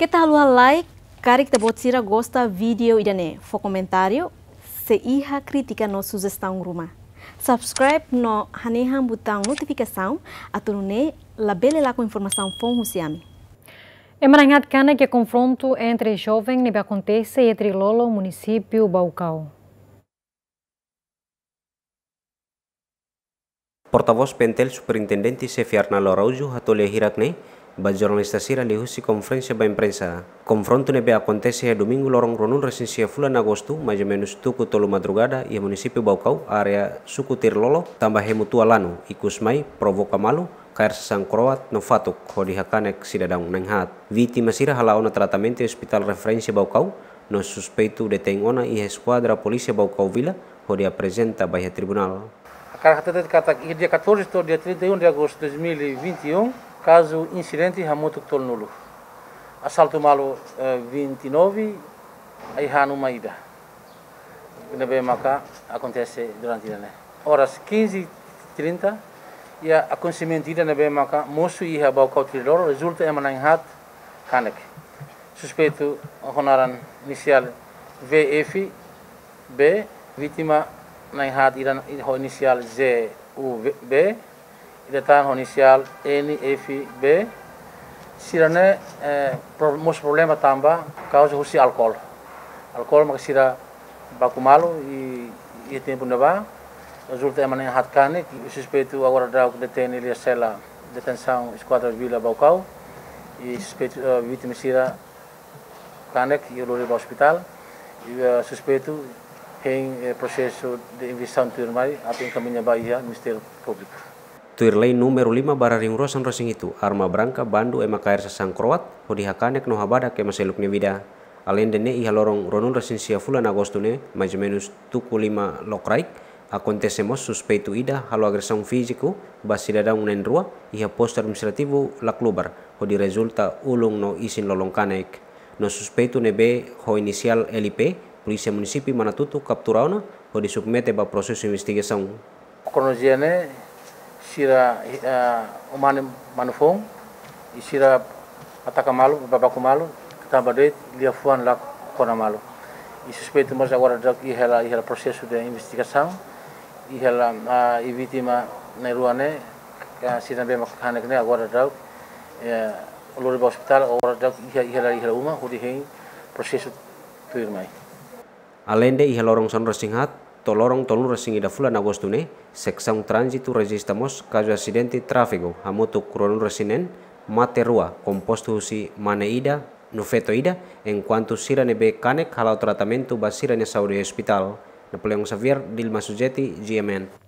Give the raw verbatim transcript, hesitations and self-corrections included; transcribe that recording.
Keta haluha like, karik ita-boot sira gosta vídeo ida-ne'e, fó komentáriu, se iha krítika no sujestaun ruma. Subscribe no hanehan butaun notifikasaun, atu nune'e labele lakon informasaun foun husi ami. Ema na'in-haat kanek iha konfrontu entre joven ne'ebé akontese iha Trilolo, munisípiu Baucau. Portavós PNTL, Superintendente Xefe Arnaldo Araújo, hato'o lia hirak ne'e ba jornalista sira liuhusi konferénsia ba imprensa. Konfrontu ne'ebé akontese iha domingu loron ruanulu-resin-sia fulan Agostu, mais ou menus tuku tolu madrugada, iha munisípiu Baucau, área suku Trilolo, tanba hemu tua lanu, ikus mai provoka malu, kaer sasán kro'at no fatuk hodi hakanek sidadaun na'in-haat. Vítima sira hala'o ona tratamentu iha Ospitál Referénsia Baucau, no suspeitu detein ona iha Eskuadra Polísia Baucau Vila, hodi aprezenta ba iha tribunál. Hakarak hatete katak iha dia catorze to'o dia trinta e um de agosto de dois mil e vinte e um, kazu insidente hamutuk tolunulu. Asaltu malu, eh, vinte e nove, ai-han uma ida ne'ebé maka akontese durante ida-ne'e. Oras quinze e trinta, iha akontesimentu ida ne'ebé maka mosu iha Baucau Trilolo, rezulta ema na'in-haat kanek. Suspeitu ho naran inisiál V F B, vítima na'in-haat ida ho inisiál Z U B, ida tan ho inisiál N F B, sira-ne'e, eh, pro-, mosu problema tanba kauza husi álkol. Álkol maka sira baku malu i, i tempu ne'ebá, rezulta ema na'in-haat kanek, i suspeitu agora daudauk detein iha sela detensaun Eskuadra Vila Baucau, i suspeitu, eh, vítima sira kanek i lori ba ospitál, i, eh, suspeitu hein, eh, prosesu de investigasaun tuirmai atu enkamiña ba iha Ministériu Públiku. Tuir lei númeru lima barra rihun rua sanulu-resin-hitu, arma branka bandu ema kaer sasán kro'at, hodi hakanek no habadak ema seluk nia vida. Aleinde ne'e iha loron ruanulu-resin-sia fulan Agostu ne'e, mais ou menus tuku lima lokraik, akontese mós suspeitu ida halo agresaun fíziku ba sidadaun na'in-rua iha postu administrativu Laclubar, hodi rezulta ulun no isin-lolon kanek. No suspeitu ne'ebé ho inisiál L P, polísia munisípiu Manatuto kaptura ona, hodi submete ba prosesu investigasaun. Kronolojia ne'e sira, eh, umane manu foun, i sira ataka malu, ba baku malu, tanba de'it liafuan la kona malu. I suspeitu mós agora daudauk iha hela, iha hela prosesu de investigasaun, iha hela, ah, i vítima na'in-rua ne'e, ka sira ne'ebé maka kanek ne'e agora daudauk, eh, lori ba ospitál, agora daudauk iha, iha hela, iha hela uma, hodi hein prosesu tuirmai. Aleinde iha loron sanulu-resin-haat to'o loron tolunulu-resin-ida fulan Agostu ne'e, seksaun tránzitu rejista mós kazu asidente tráfegu hamutuk ruanulu-resin-neen, mate rua, kompostu husi mane ida no feto ida, enkuantu sira ne'ebé kanek hala'o tratamentu ba sira-nia saúde iha ospitál. Napoleão Xavier, Dilma Sujeti, G M N.